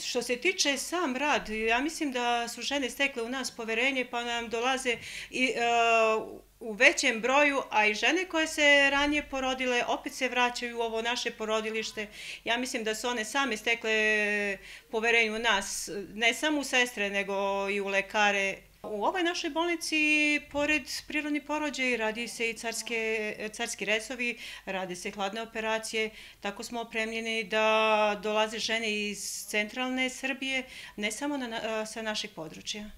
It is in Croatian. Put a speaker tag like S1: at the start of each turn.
S1: Što se tiče sam rad, ja mislim da su žene stekle u nas poverenje pa nam dolaze i u većem broju, a i žene koje se ranije porodile opet se vraćaju u ovo naše porodilište. Ja mislim da su one same stekle poverenje u nas, ne samo u sestre nego i u lekare. U ovoj našoj bolnici, pored prirodnih porođaja, radi se i carski rezovi, rade se hladne operacije, tako smo opremljeni da dolaze žene iz centralne Srbije, ne samo sa našeg područja.